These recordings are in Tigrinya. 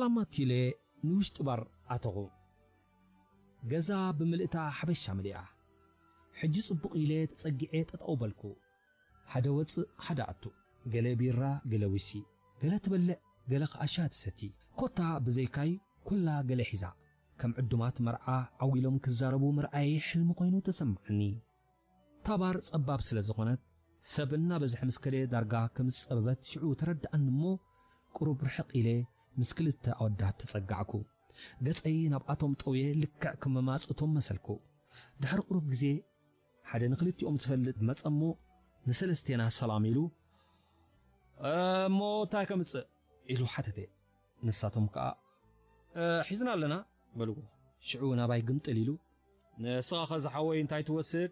ኣማት ኢለ ንውሽጢ ባር ኣተኹ። ገዛ ብምልእታ ሓበሻ መሊኣ። ሕጂ ጽቡቕ ኢለ ተጸጊዐ ጠጠው በልኩ። ሓደ ወጽእ ሓደ ኣቱ፣ ገለ ቢራ፣ ገለ ዊሲ፣ ገለ ትበልዕ፣ ገለ ከኣ ሻሂ ትሰቲ። ኮታ ብዘይካይ ኩላ ገለ ሒዛ። ከም ዕዱማት መርዓ ዓው ኢሎም ክዛረቡ ምርኣየይ ሕልሚ ኮይኑ ተሰማዓኒ። እታ ባር ጸባብ ስለ ዝኾነት ሰብ እናበዝሐ ምስ ከደ ዳርጋ ከም ዝጸበበት ሽዑ ተረድኣኒ እሞ ቁሩብ ርሕቕ ኢለ ምስ ክልተ ኣወዳት ተጸጋዕኩ። ገጸይ ናብኣቶም ጠውየ ልክዕ ከም መማጽእቶም መሰልኩ። ድሕሪ ቁሩብ ግዜ ሓደ ንክልቲኦም ዝፈልጥ መጸ እሞ ንሰለስቴና ሰላም ኢሉ፣ "እሞ እንታይ ከምጽእ?" ኢሉ ሓተተ። ንሳቶም ከኣ "እ፣ ሒዝና ኣለና" በልዎ። ሽዑ ናባይ ግምጥል ኢሉ "ንስኻ ኸ ዝሓወይ እንታይ ትወስድ?"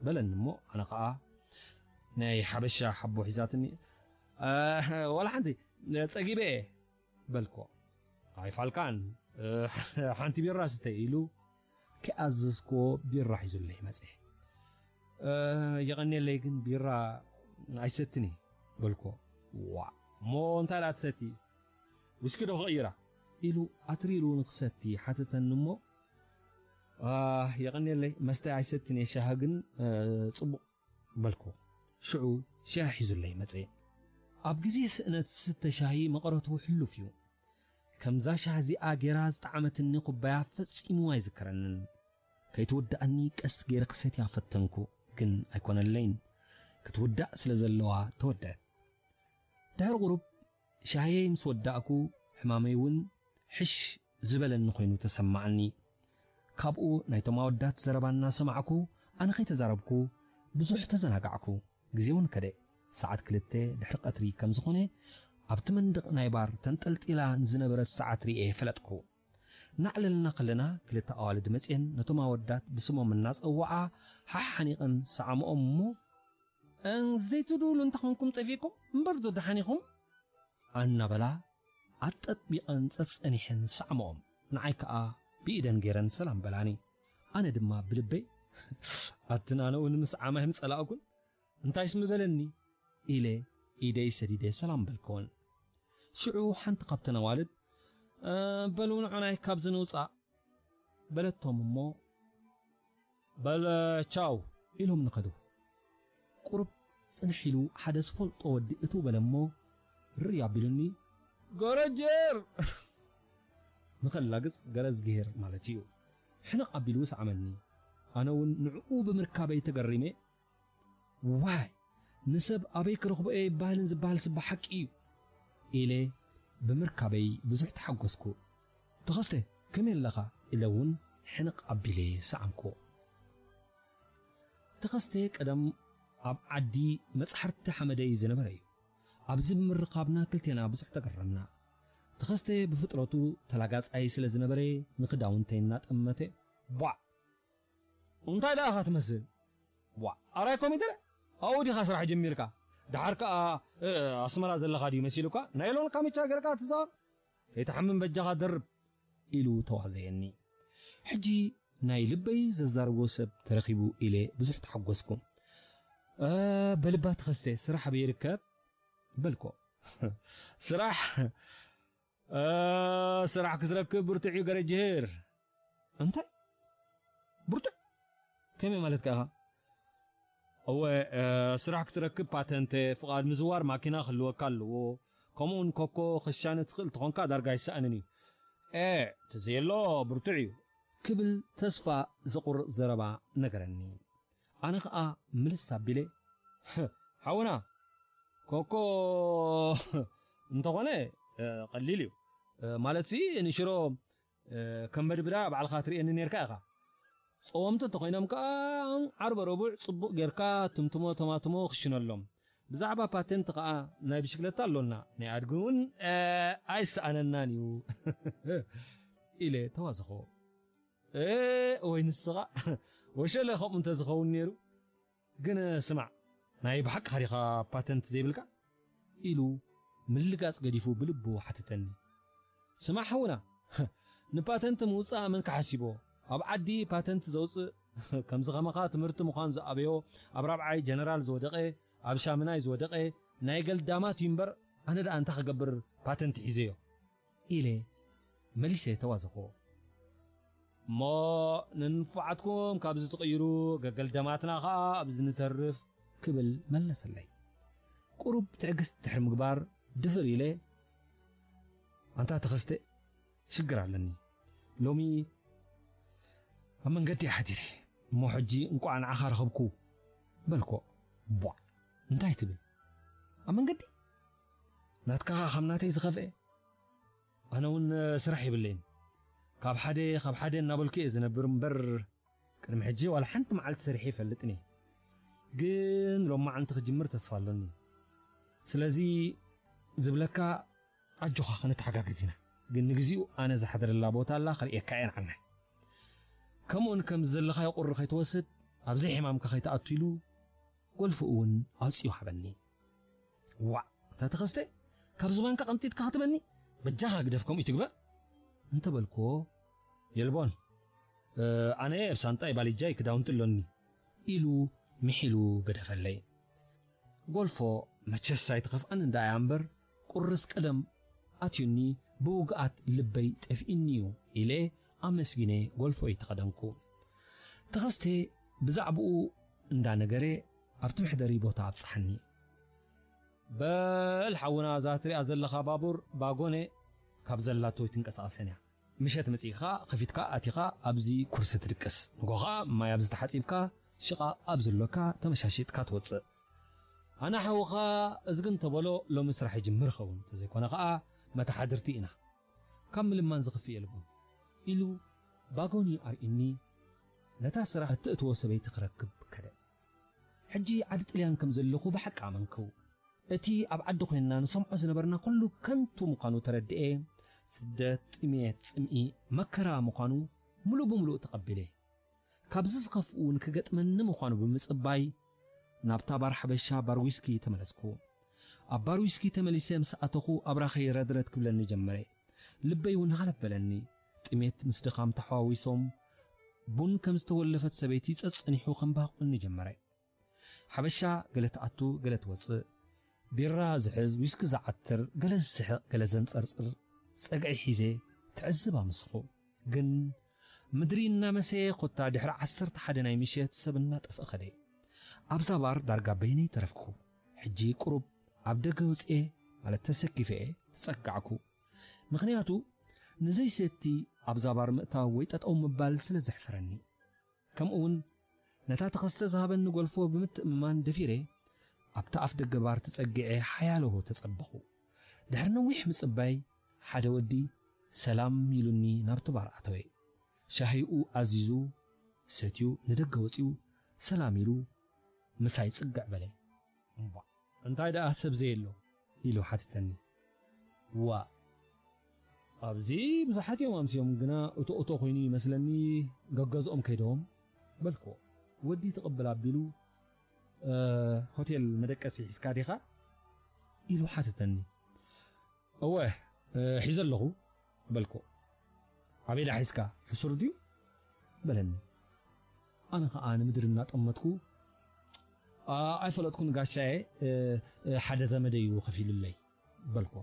በለኒ እሞ ኣነ ከኣ ናይ ሓበሻ ሓቦ ሒዛትኒ "እ፣ ዋላ ሓንቲ ጸጊበ እየ" በልኮ። "ኣይፋልካን፣ እ፣ ሓንቲ ቢራ ስተ" ኢሉ ከይኣዘዝክዎ ቢራ ሒዙለይ መጸ። "እ፣ የቐንየለይ ግን ቢራ ኣይሰትን እየ" በልኮ። "ዋ፣ እሞ እንታይ ደኣ ትሰቲ? ዊስኪ ዶ ክቕይራ?" ኢሉ ኣትሪሩ ንክሰቲ ሓተተኒ እሞ "እ፣ የቐንየለይ መስተ ኣይሰትን እየ፣ ሻሂ ግን፣ እ፣ ጽቡቕ" በልኮ። ሽዑ ሻሂ ሒዙለይ መጸ። ኣብ ግዜ ስእነት ዝስተ ሻሂ መቐረቱ ሕሉፍ እዩ። ከምዛ ሻሂ እዚኣ ጌራ ዝጠዓመትኒ ኩባያ ፈጺሙ ኣይዝከረንን። ከይትውድኣኒ ቀስ ጌረ ክሰትያ ፈተንኩ፣ ግን ኣይኮነለይን። ክትውዳእ ስለ ዘለዋ ተወደአት። ድሕሪ ቁሩብ ሻህየይ ምስ ወዳእኩ፣ ሕማመይ እውን ሕሽ ዝበለኒ ኮይኑ ተሰማዓኒ። ካብኡ ናይቶም ኣወዳት ዘረባ እናሰማዕኩ፣ ኣነ ከይተዛረብኩ ብዙሕ ተዘናጋዕኩ። ግዜ እውን ከደ። ሰዓት ክልተ ድሕሪ ቀትሪ ከም ዝኾነ፣ ኣብቲ መንደቕ ናይ ባር ተንጠልጢላ ንዝነበረት ሰዓት ርእየ ፈለጥኩ። እናዕለልና ከለና፣ ክልተ ኣዋልድ መጽየን ነቶም ኣወዳት ብስሞም እናጸውዓ፣ ሓሓኒቐን ሰዓምኦም እሞ፣ "እን ዘይትድውሉ እንተኾንኩም ጠፊእኩም፣ እምበር ዶ ደሓን ኢኹም?" ኣናበላ ኣጠጥቢቐን ጸጸኒሐን ሰዓምኦም። ንዓይ ከኣ ብኢደን ገይረን ሰላም በላኒ። ኣነ ድማ ብልበይ፣ "ኣትን ኣነ እውን ምስ ዓማይ ምጸላእኩን፣ እንታይስ ምበለኒ?" ኢለ ኢደይ ሰዲደ ሰላም በልክወን። ሽዑ ሓንቲ ካብተን ኣዋልድ፣ "እ፣ በሉ ንዑናይ ካብዚ ንውጻእ" በለቶም እሞ፣ "በል ቻው" ኢሎም ንኸዱ። ቁሩብ ጽንሕ ኢሉ ሓደ ዝፈልጦ ወዲ እትው በለ እሞ፣ ርእ ኣቢሉኒ፣ "ገረጀር!" ንኸላግጽ ገረዝግሄር ማለት እዩ። ሕንቕ ኣቢሉ ሰዓመኒ። ኣነ እውን ንዕኡ ብምርካበይ ተገሪመ፣ "ዋይ፣ ንሰብ ኣበይ ክረኽቦ እየ ይበሃልን ዝበሃልስ ብሓቂ እዩ" ኢለ ብምርካበይ ብዙሕ ተሓጎስኩ። "ተኸስተ፣ ከመይ ኣለኻ?" ኢለ እውን ሕንቕ ኣቢለ ሰዓምኩዎ። ተኸስተ ቀደም ኣብ ዓዲ መጽሓርቲ ሓመደይ ዝነበረ እዩ። ኣብዚ ብምርኻብና ክልቴና ብዙሕ ተገረምና። ተኸስተ ብፍጥረቱ ተላጋጻይ ስለ ዝነበረ ንኽዳውንተይ እናጠመተ፣ "ቧዕ! እንታይ ደኣ ኢኻ ትመስል? ቧዕ! ኣራይ ኮሚደረ? ኣብኡ ዲኻ ስራሕ ጀሚርካ? ደሓር ከኣ፣ እ፣ ኣስመራ ዘለኻ ድዩ መሲሉካ? ናይሎን ካምቻ ገርካ ትዛወር? ከይትሓምም በጃኻ ደርብ!" ኢሉ ተዋዘየኒ። ሕጂ ናይ ልበይ ዘዛርቦ ሰብ ተረኺቡ ኢለ ብዙሕ ተሓጎስኩ። "እ፣ በልባ ተኸስተ፣ ስራሕ ኣበይ ይርከብ?" በልኮ። "ስራሕ? እ፣ ስራሕ ክትረክብ ብርቱዕ እዩ ገረጅህር።" "እንታይ? ብርቱዕ? ከመይ ማለትካ ኢኻ?" "እወ፣ እ፣ ስራሕ ክትረክብ ፓተንተ፣ ፍቓድ ምዝዋር ማኪና ክህልወካ ኣለዎ። ከምኡውን ኮኮ ክሻነ ትኽእል ተኾንካ ዳርጋ ኣይሰኣንን እዩ።" "ኤ፣ ተዘየሎ ብርቱዕ እዩ።" ክብል ተስፋ ዘቑርጽ ዘረባ ነገረኒ። ኣነ ኸኣ ምልስ ኣቢለ፣ "ሓውና፣ ኮኮ እንተኾነ፣ እ፣ ቀሊል እዩ። እ፣ ማለትሲ ንሽሮ፣ እ፣ ከም በድብዳ ባዕልኻ ትርእየኒ ኔርካ ኢኻ። ጸወምቲ እንተኾይኖም ከኣ ዓርበ ረቡዕ ጽቡቕ ጌርካ ትምትሞ ተማትሞ ክሽነሎም። ብዛዕባ ፓተንት ከኣ ናይ ብሽክለታ ኣሎና፣ ናይ ኣድጊ እውን፣ እ፣ ኣይሰኣነናን እዩ" ኢለ ተዋዘኽዎ። "እ፣ ወይ ንስኻ ወሸለ ከምኡ እንተዝኸውን ኔሩ። ግን ስማዕ፣ ናይ ብሓቅኻ ዲኻ ፓተንት ዘይብልካ?" ኢሉ ምልጋጽ ገዲፉ ብልቡ ሓተተኒ። "ስማዕ ሓውና፣ ንፓተንት ምውጻእ መን ክሓሲቦ? ኣብ ዓዲ ፓተንት ዘውጽእ ከምዚ ከማኻ ትምህርቲ ምዃን ዝኣበዮ፣ ኣብ ራብዓይ ጀነራል ዝወደቐ፣ ኣብ ሻምናይ ዝወደቐ ናይ ገልዳማት እዩ እምበር፣ ኣነ ደኣ እንታይ ክገብር ፓተንት ሒዘዮ?" ኢለ መሊሰ ተዋዘኽዎ። እሞ ንንፉዓትኩም ካብዚ ትቕይሩ፣ ገገልደማትና ኸኣ ኣብዚ ንተርፍ፣ ክብል መለሰለይ። ቁሩብ ትዕግስቲ ድሕሪ ምግባር ድፍር ኢለ፣ ኣንታ ተኸስተ፣ ሽግር ኣለኒ። ሎሚ ኣብ መንገዲ እየ ሓዲረ። እሞ ሕጂ እንቋዕ ንዓኻ ረኸብኩ፣ በልኮ። ቧዕ! እንታይ ትብል? ኣብ መንገዲ? ናትካ ካብ ናተይ ዝኸፍኤ? ኣነ እውን ስራሕ የብለይን። ካብ ሓደ፣ ካብ ሓደ እናበልኩ እየ ዝነብር እምበር፣ ቅድሚ ሕጂ ዋላ ሓንቲ መዓልቲ ሰሪሐ ይፈልጥን እየ። ግን ሎማዓንቲ ክጅምር ተስፋ ኣሎኒ። ስለዚ ዝብለካ፣ ኣጆኻ፣ ክንተሓጋገዝ ኢና። ግን ንግዚኡ ኣነ ዝሓድረላ ቦታ ኣላ፣ ክርእየካ እየ ንዓናይ። ከምኡውን ከም ዘለኻዮ ቁሪ ከይትወስድ፣ ኣብ ዘይሕማምካ ከይትኣቱ ኢሉ፣ ጎልፎ እውን ኣውጺኡ ሃበኒ። ዋዕ! እታ ተኸስተ፣ ካብ ዝባንካ ቀንጢጥካ ክትበኒ? በጃኻ ግደፍ፣ ከምኡ ይትግበር። እንተ በልክዎ፣ የልቦን፣ እ፣ ኣነ ኣብ ሳንጣይ ባሊጃይ ክዳውንቲ ኣሎኒ፣ ኢሉ ምሒሉ ገደፈለይ። ጎልፎ መቸስ ኣይትኸፍኣን እንዳ እያ እምበር፣ ቁርስ ቀደም ኣትዩኒ፣ ብውግኣት ልበይ ጠፊእኒ እዩ፣ ኢለ ኣመስጊነ ጎልፎይ ተኸደንኩ። ተኸስተ ብዛዕባኡ እንዳነገረ ኣብቲ መሕደሪ ቦታ ኣብጽሓኒ። በል ሓውና፣ እዛ ትሪኣ ዘለኻ ባቡር ባጎነ ካብ ዘላቶ ኣይትንቀሳቐስን እያ። ምሸት መጺእካ ከፊትካ ኣቲኻ ኣብዚ ኩርሲ ትድቅስ። ንጎ ኸኣ ማይ ኣብዚ ተሓጺብካ ሽቓቕ ኣብ ዘሎካ ተመሻሺጥካ ትወጽእ። ኣነ ሓውኻ እዝጊ እንተበሎ ሎሚ ስራሕ ይጅምር ይኸውን፣ እንተዘይኮነ ኸኣ መተሓድርቲ ኢና። ካብ ምልማን ዝኽፍእ የልቦን፣ ኢሉ ባጎኒ ኣርእዩኒ ነታ ስራሕ እትእትዎ ሰበይቲ ክረክብ ከደ። ሕጂ ዓዲ ጥልያን ከም ዘለኹ ብሓቂ ኣመንኩ። እቲ ኣብ ዓዲ ኮይንና ንሰምዖ ዝነበርና ኩሉ ከንቱ ምዃኑ ተረድኤ። ስደት፣ ጥሜት፣ ጽምኢ፣ መከራ ምዃኑ ምሉእ ብምሉእ ተቐቢለ። ካብዚ ዝኸፍእ እውን ክገጥመኒ ምዃኑ ብምጽባይ፣ ናብታ ባር ሓበሻ ባር ዊስኪ ተመለስኩ። ኣብ ባር ዊስኪ ተመሊሰ ምስ ኣተኹ ኣብራኸይ ረድረድ ክብለኒ ጀመረ። ልበይ እውን ሃለፍ በለኒ። ጥሜት ምስ ድኻም ተሓዋዊሶም ቡን ከም ዝተወለፈት ሰበይቲ ጸጸኒሑ ከምባቑኒ ጀመረ። ሓበሻ ገለ ትኣቱ ገለ ትወጽእ፣ ቢራ ዝሕዝ ዊስኪ ዝዓትር፣ ገለ ዝስሕቕ ገለ ዘንጸርጽር ጸግዒ ሒዘ ትዕዝብ ኣምስኹ። ግን ምድሪ እናመሰየ ኮታ ድሕሪ ዓሰርተ ሓደ ናይ ምሸት ሰብ እናጠፍአ ኸደ። ኣብዛ ባር ዳርጋ በይነይ ተረፍኩ። ሕጂ ቁሩብ ኣብ ደገ ወፅኤ ማለት ተሰኪፈ እየ ተፀጋዕኩ። ምኽንያቱ ንዘይሰቲ ኣብዛ ባር ምእታው ወይ ጠጠው ምባል ስለ ዘሕፍረኒ። ከምኡውን ነታ ተኸስተ ዝሃበኒ ጎልፎ ብምትእምማን ደፊረ ኣብቲ ኣፍ ደገ ባር ተጸጊዐ ሓያለሆ ተጸበኹ። ድሕሪ ነዊሕ ምጽባይ ሓደ ወዲ ሰላም ኢሉኒ ናብቲ ባር ኣተወ። ሻሂኡ ኣዚዙ ሰትዩ ንደገ ወጺኡ ሰላም ኢሉ ምሳይ ጽግዕ በለ። እምቧ፣ እንታይ ደኣ ሰብ ዘየሎ? ኢሉ ሓተተኒ። ዋእ፣ ኣብዚ ብዙሓት እዮም ኣምስዮም፣ ግና እቶ እቶ ኮይኑ ይመስለኒ ገገዝኦም ከይዶም በልክዎ። ወዲ ትቕብል ኣቢሉ፣ "እ፣ ሆቴል መደቀሲ ሒዝካ ዲኻ?" ኢሉ ሓተተኒ። "እወ፣ እ፣ ሒዘ ኣለኹ" በልክዎ። "ኣበይ ደኣ ሒዝካ? ሕሱር ድዩ?" በለኒ። ኣነ ኸኣ ንምድሪ እናጠመትኩ፣ "ኣ-፣ ኣይፈለጥኩን ጋሻየ፣ እ፣ እ፣ ሓደ ዘመደይ እዩ ከፊሉለይ" በልክዎ።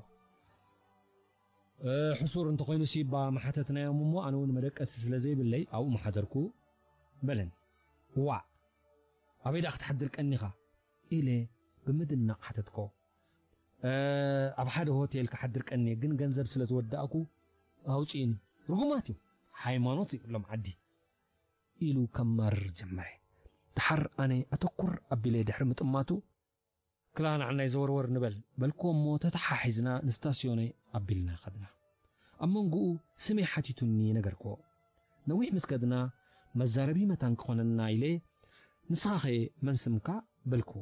"እ፣ ሕሱር እንተኾይኑሲ እባ ምሓተትናዮም እሞ፣ ኣነ እውን መደቀሲ ስለ ዘይብለይ ኣብኡ ምሓደርኩ" በለኒ። "ዋዕ! ኣበይ ደኣ ክትሓድር ቀኒኻ?" ኢለ ብምድናቕ ሓተትኮ። "እ፣ ኣብ ሓደ ሆቴል ክሓድር ቀንየ፣ ግን ገንዘብ ስለ ዝወዳእኩ ኣውጽእኒ። ርጉማት እዮም፣ ሃይማኖት የብሎም ዓዲ" ኢሉ ከማርር ጀመረ። ደሓር ኣነ ኣተኩር ኣቢለ ድሕሪ ምጥማቱ፣ "ክላ ንዓናይ ዘወርወር ንበል" በልክዎ እሞ ተተሓሒዝና ንስታስዮነ ኣቢልና ኸድና። ኣብ መንጎኡ ስመይ ሓቲቱኒ ነገርክዎ። ነዊሕ ምስ ከድና መዛረቢ መታን ክኾነና ኢለ፣ "ንስኻኸ መን ስምካ?" በልክዎ።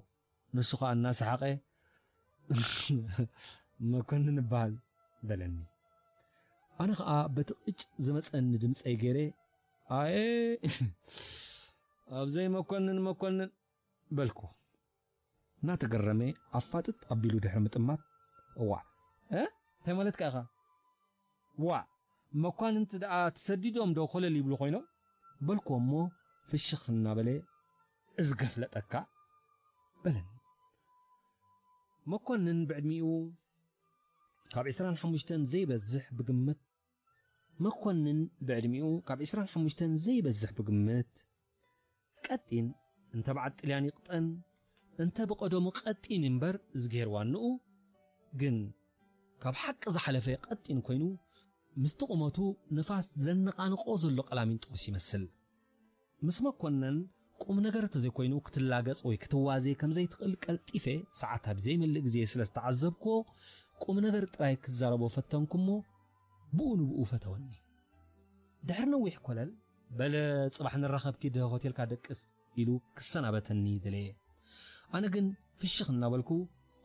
ንሱ ኸኣ እናሰሓቐ፣ "መኮንን እበሃል" በለኒ። ኣነ ኸኣ በቲ ቅጭ ዝመጸኒ ድምጸይ ገይረ፣ "ኣየ፣ ኣብዘይ መኮንን መኮንን" በልኩ። እናተገረመ ኣፋጥጥ ኣቢሉ ድሕሪ ምጥማት፣ "እዋዕ፣ እ? እንታይ ማለትካ ኢኻ?" "ዋዕ፣ መኳንንቲ ደኣ ተሰዲዶም ዶ ኮለል ይብሉ ኮይኖም?" በልኩዎ እሞ ፍሽኽ እናበለ፣ "እዝገ ፍለጠካ" በለኒ። መኮንን ብዕድሚኡ ካብ ዕስራን ሓሙሽተን ዘይበዝሕ ብግምት መኮንን ብዕድሚኡ ካብ ዕስራን ሓሙሽተን ዘይበዝሕ ብግምት፣ ቀጢን፣ እንተ በዓል ጥልያን ይቕጠን እንተ ብቐደሙ ቀጢን እምበር እዝግሄር ዋንኡ ግን ካብ ሓቂ ዝሓለፈ ቀጢን ኮይኑ፣ ምስቲ ቁመቱ ንፋስ ዘነቓንቆ ዘሎ ቀላሚንጦስ ይመስል። ምስ መኮነን ቁም ነገር እንተዘይኮይኑ ክትላገጽ ወይ ክትዋዜ ከምዘይትኽእል ቀልጢፈ፣ ሰዓት ኣብ ዘይመልእ ግዜ ስለ ዝተዓዘብክዎ፣ ቁም ነገር ጥራይ ክዛረቦ ፈተንኩ እሞ ብኡ ንብኡ ፈተወኒ። ድሕሪ ነዊሕ ኮለል፣ "በለ ጽባሕ ንራኸብ፣ ኪድ ሆቴልካ ደቅስ" ኢሉ ክሰናበተኒ ደለየ። ኣነ ግን ፍሽኽ እናበልኩ፣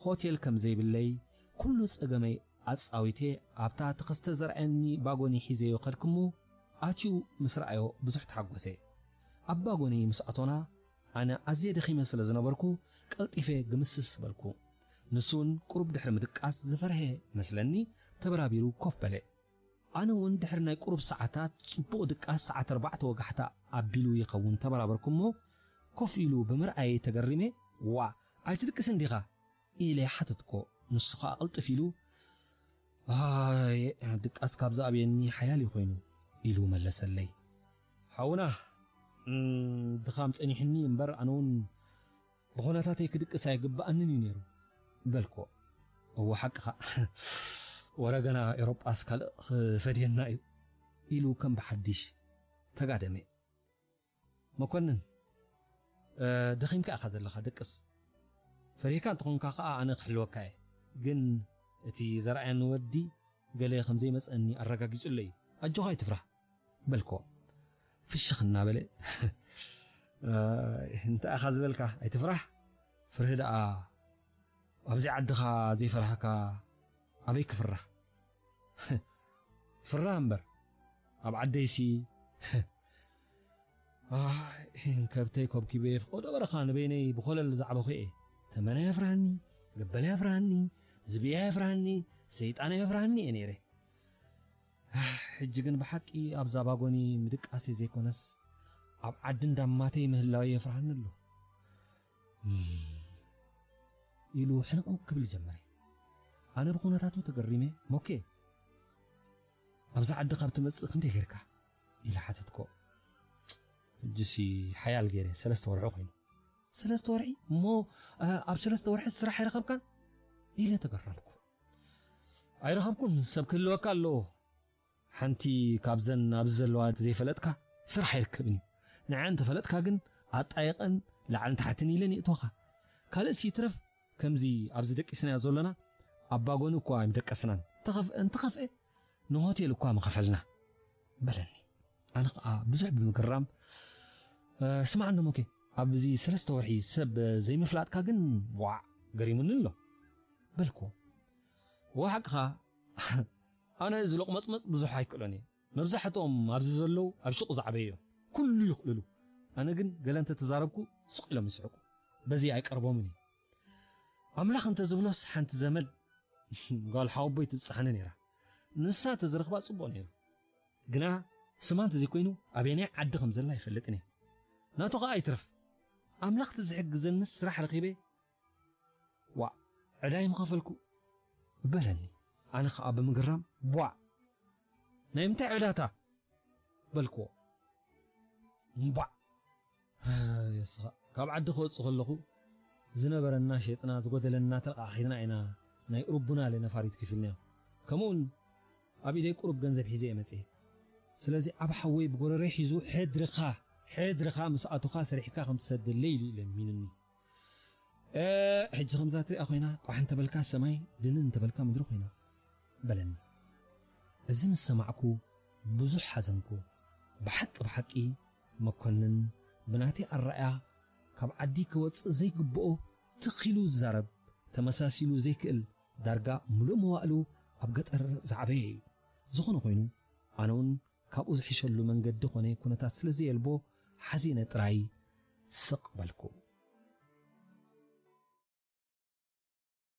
ሆቴል ከም ዘይብለይ ኩሉ ጸገመይ ኣጻዊቴ፣ ኣብታ ተኸስተ ዘርኣየኒ ባጎኒ ሒዘዮ ከድኩ እሞ፣ ኣትዩ ምስ ረኣዮ ብዙሕ ተሓጎሰ። ኣብ ባጎኒ ምስ ኣቶና፣ ኣነ ኣዝየ ደኺመ ስለ ዝነበርኩ፣ ቀልጢፈ ግምስስ በልኩ። ንሱ እውን ቁሩብ ድሕሪ ምድቃስ ዝፈርሀ መስለኒ፣ ተበራቢሩ ኮፍ በለ። ኣነ እውን ድሕሪ ናይ ቁሩብ ሰዓታት ጽቡቕ ድቃስ፣ ሰዓት ኣርባዕተ ወጋሕታ ኣቢሉ ይኸውን፣ ተበራበርኩ እሞ፣ ኮፍ ኢሉ ብምርኣየይ ተገሪመ፣ "ዋ፣ ኣይትድቅስን ዲኻ?" ኢለ ሓተትኮ። ንሱ ኸኣ ቅልጥፍ ኢሉ፣ "ኣይ፣ ድቃስ ካብ ዝኣብየኒ ሓያል እዩ ኮይኑ" ኢሉ መለሰለይ። ሓውና፣ እም፣ ድኻም ጸኒሕኒ እምበር፣ ኣነ እውን ብኹነታተይ ክድቅስ ኣይግብኣንን እዩ ነይሩ በልኮ። "እወ፣ ሓቅኻ፣ ወረ ገና ኤውሮጳስ ካልእ ክፈድየና እዩ" ኢሉ ከም ብሓድሽ ተጋደመ። "መኮንን፣ እ፣ ደኺምካ ኢኻ ዘለኻ፣ ደቅስ። ፈሪህካ እንተኾንካ ከኣ ኣነ ክሕልወካ እየ። ግን እቲ ዘርኣየኒ ወዲ ገለ ከም ዘይመጸኒ ኣረጋጊጹለይ እዩ። ኣጆኻ ኣይትፍራህ" በልኮ። ፍሽኽ እናበለ፣ "እ፣ እንታይ ኢኻ ዝበልካ? ኣይትፍራህ። ፍርሂ ደኣ ኣብዚ ዓድኻ ዘይፈራህካ ኣበይ ክፍራህ? ፍራህ እምበር ኣብ ዓደይሲ፣ ኣይ፣ ከብተይ ኮብኪበ ፍቆዶ በረኻ ንበይነይ ብኾለል ዛዕበኹ እየ። ተመን ኣየፍርሃኒ፣ ገበል ኣየፍርሃኒ፣ ዝብኢ ኣየፍርሃኒ፣ ሰይጣን ኣየፍርሃኒ እየ ነይረ። ኣህ፣ ሕጂ ግን ብሓቂ ኣብዛ ባጎኒ ምድቃሰይ ዘይኮነስ፣ ኣብ ዓዲ እንዳማተይ ምህላወይ የፍርሃኒ ኣሎ" እም፣ ኢሉ ሕንቕንቕ ክብል ጀመረ። ኣነ ብኹነታቱ ተገሪመ፣ "ሞኬ፣ ኣብዛ ዓዲ ካብ ትመጽእ ክንደይ ጌርካ?" ኢለ ሓተትኮ። ሕጂሲ ሓያል ገይረ፣ ሰለስተ ወርሒ ኮይኑ። "ሰለስተ ወርሒ? እሞ፣ እ፣ ኣብ ሰለስተ ወርሒ ስራሕ ኣይረኸብካን?" ኢለ ተገረምኩ። "ኣይረኸብኩን፣ ሰብ ክህልወካ ኣለዎ። ሓንቲ ካብዘን ኣብዚ ዘለዋ ዘይፈለጥካ ስራሕ ኣይርከብን እዩ። ንዓ እንተፈለጥካ ግን ኣጣይቐን ላዕልን ታሕትን ኢለን የእትወኻ። ካልእስ ይትረፍ፣ ከምዚ ኣብዚ ደቂስናዮ ዘሎና ኣብ ባጎኒ እኳ ኣይምደቀስናን። እንተኸፍአ፣ እንተኸፍአ ንሆቴል እኳ ምኸፈልና" በለኒ። ኣነ ኸኣ ብዙሕ ብምግራም፣ "እ፣ ስማዕ እንዶ ሞኬ፣ ኣብዚ ሰለስተ ወርሒ ሰብ ዘይምፍላጥካ ግን ዋዕ ገሪሙኒ ኣሎ" በልኩ። "እወ ሓቅኻ፣ ኣነ እዚ ሎቕመጽመጽ ብዙሕ ኣይክእሎን እየ። መብዛሕትኦም ኣብዚ ዘለዉ ኣብ ሹቕ ዝዓበዩ እዮም። ኩሉ ይኽእልሉ። ኣነ ግን ገለ እንተተዛረብኩ ስቕ ኢሎም ይስሕቁ። በዚ ኣይቀርቦምን እየ። ኣምላኽ እንተዝብሎስ ሓንቲ ዘመድ ጓል ሓወቦይ ትብጽሓኒ ነይራ። ንሳ እንተዝረኽባ ጽቡቕ ነይሩ። ግና ስማ እንተዘይኮይኑ ኣበየናይ ዓዲ ከም ዘላ ኣይፈልጥን እየ። ናቱ ኸኣ ኣይትረፍ። ኣምላኽ እንተዝሕግዘንስ ስራሕ ረኺበ ዋዕ፣ ዕዳይ ምኸፈልኩ" በለኒ። ኣነ ኸኣ ብምግራም፣ "ቧዕ! ናይ ምንታይ ዕዳታ?" በልክዎ። "እምቧዕ! የስኻ፣ ካብ ዓዲ ክወጽእ ከለኹ ዝነበረና ሸጥና፣ ዝጎደለና ተለቓቒና ኢና ናይ ኡርቡናለ ነፋሪት ከፊልናዮ። ከምኡውን ኣብ ኢደይ ቁሩብ ገንዘብ ሒዘ እየ መጽየ። ስለዚ ዓቢ ሓወይ ብጎረረይ ሒዙ፣ 'ሕድርኻ፣ ሕድርኻ ምስ ኣቶኻ ሰሪሕካ ከም ትሰደለይ' ኢሉ እዩ ለሚኑኒ። እ፣ ሕጂ ከምዛ ትሪኣ ኮይና፣ ቋሕ እንተበልካ ሰማይ፣ ድንን እንተበልካ ምድሪ ኮይና" በለኒ። እዚ ምስ ሰማዕኩ ብዙሕ ሓዘንኩ። ብሓቂ፣ ብሓቂ መኮንን ብናተይ ኣረኣእያ ካብ ዓዲ ክወጽእ ዘይግብኦ፣ ትኽ ኢሉ ዝዛረብ፣ ተመሳሲሉ ዘይክእል፣ ዳርጋ ምሉእ መዋእሉ ኣብ ገጠር ዝዓበየ እዩ። ዝኾነ ኮይኑ፣ ኣነ እውን ካብኡ ዝሕሸሉ መንገዲ ኮነ ኩነታት ስለ ዘየልቦ፣ ሓዚነ ጥራይ ስቕ በልኩ።